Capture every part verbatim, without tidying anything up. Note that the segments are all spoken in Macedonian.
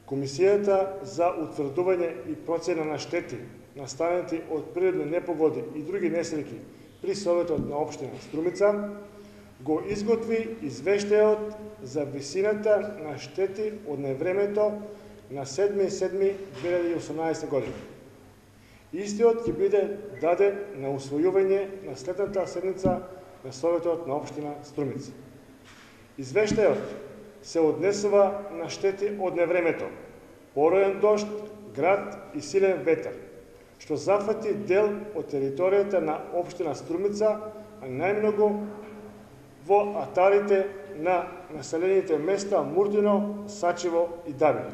Комисијата за утврдување и процена на штети настанати од природни непогоди и други несреќи при Советот на општина Струмица го изготви извештајот за висината на штети од невремето на седми седми две илјади и осумнаесета година. Истиот ќе биде даден на усвојување на следната седница на Советот на општина Струмица. Извештајот се однесува на штети од невремето, пороен дожд, град и силен ветер, што зафати дел од територијата на општина Струмица, а најмногу во атарите на населените места Муртино, Сачево и Давиле.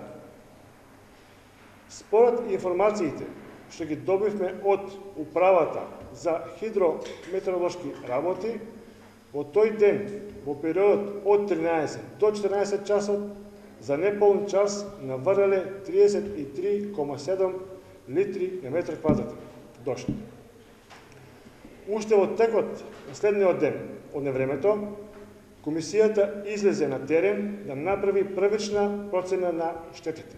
Според информациите што ги добивме од Управата за хидрометеоролошки работи, во тој ден, во периодот од тринаесет до четиринаесет часот, за неполн час наврнале триесет и три кома седум литри на метар квадратен дожд. Уште во текот на следниот ден од невремето, комисијата излезе на терен да направи првична процена на штетите.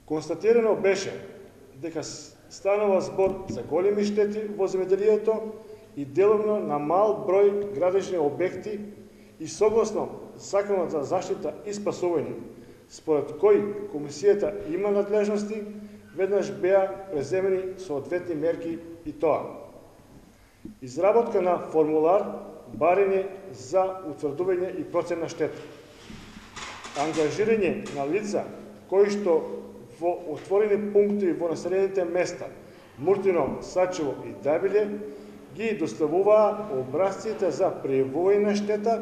Констатирано беше дека станува збор за големи штети во земјоделието и деловно на мал број градежни објекти и согласно Законот за заштита и спасување, според кој комисијата има надлежности, веднаш беа преземени соодветни мерки и тоа: изработка на формулар, барење за утврдување и процена штета, ангажирање на лица кои што во отворени пункти во населените места Муртино, Сачево и Давиле ги доставуваа образците за пријавување на штета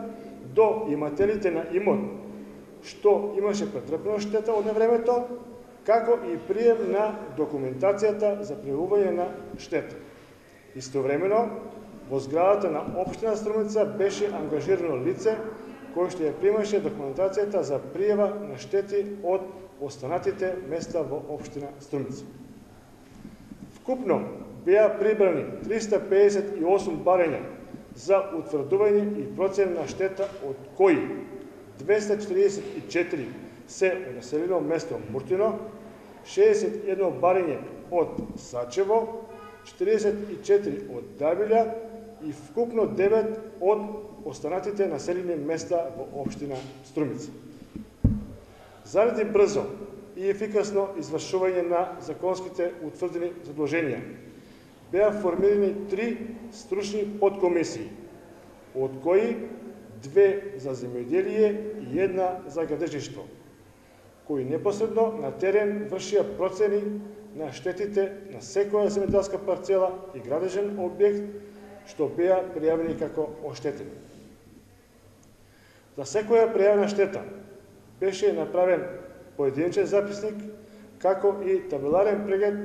до имателите на имот, што имаше претрпено штета од невремето, како и прием на документацијата за пријавување на штета. Истовремено, во зградата на општина Струмица беше ангажирано лице кој што ја примаше документацијата за пријава на штети од останатите места во општина Струмица. Вкупно беа прибрани триста педесет и осум барања за утврдување и процена на штета, од кои двеста четиридесет и четири се од населено место Муртино, шеесет и едно барање од Сачево, четиридесет и четири од Давиле и вкупно девет од останатите населени места во општина Струмица. Заради брзо и ефикасно извршување на законските утврдени задолженија, беа формирани три стручни подкомисии, од кои две за земјоделие и една за градежништво, кои непосредно на терен вршија процени на штетите на секоја земјоделска парцела и градежен објект што беа пријавени како оштетени. За секоја пријавена штета беше направен поединечен записник, како и табеларен преглед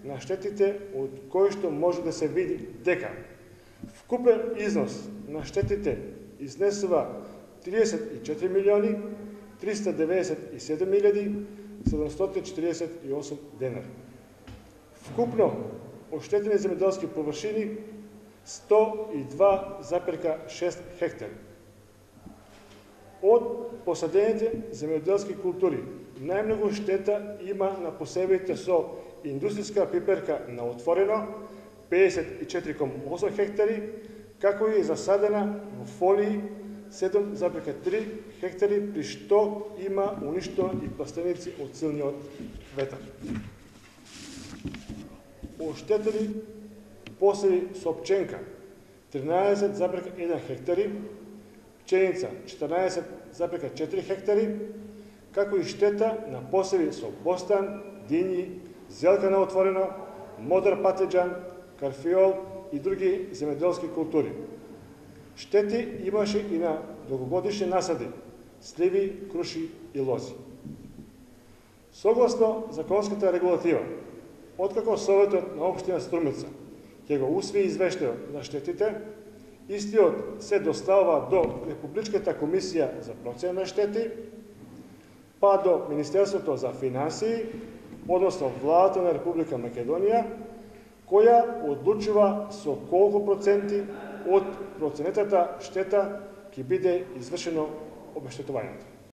на штетите, од кои што може да се види дека вкупен износ на штетите изнесува триесет и четири милиони триста деветдесет и седум илјади седумстотини четиридесет и осум денари. Вкупно оштетени земјоделски површини сто и два запирка шест хектари. Од посадените земјоделски култури најмногу штета има на посевите со индустријска пиперка на отворено педесет и четири кома осум хектари, како и засадена во фолии седум запирка три хектари, при што има уништено и пластеници од силниот ветар. Оштетени посеви со пченка тринаесет запирка еден хектари, пченица четрнаесет запирка четири хектари, како и штета на посеви со бостан, дињи, зелка на отворено, модер патеџан, карфиол и други земјоделски култури. Штети имаше и на долгогодишни насади, сливи, круши и лози. Согласно законската регулатива, откако Советот на општина Струмица ќе го усвои извештајот на штетите, истиот се доставува до Републичката комисија за процена на штети, па до Министерството за финансии, односно Владата на Република Македонија, која одлучува со колку проценти од проценетата штета ќе биде извршено обештетувањето.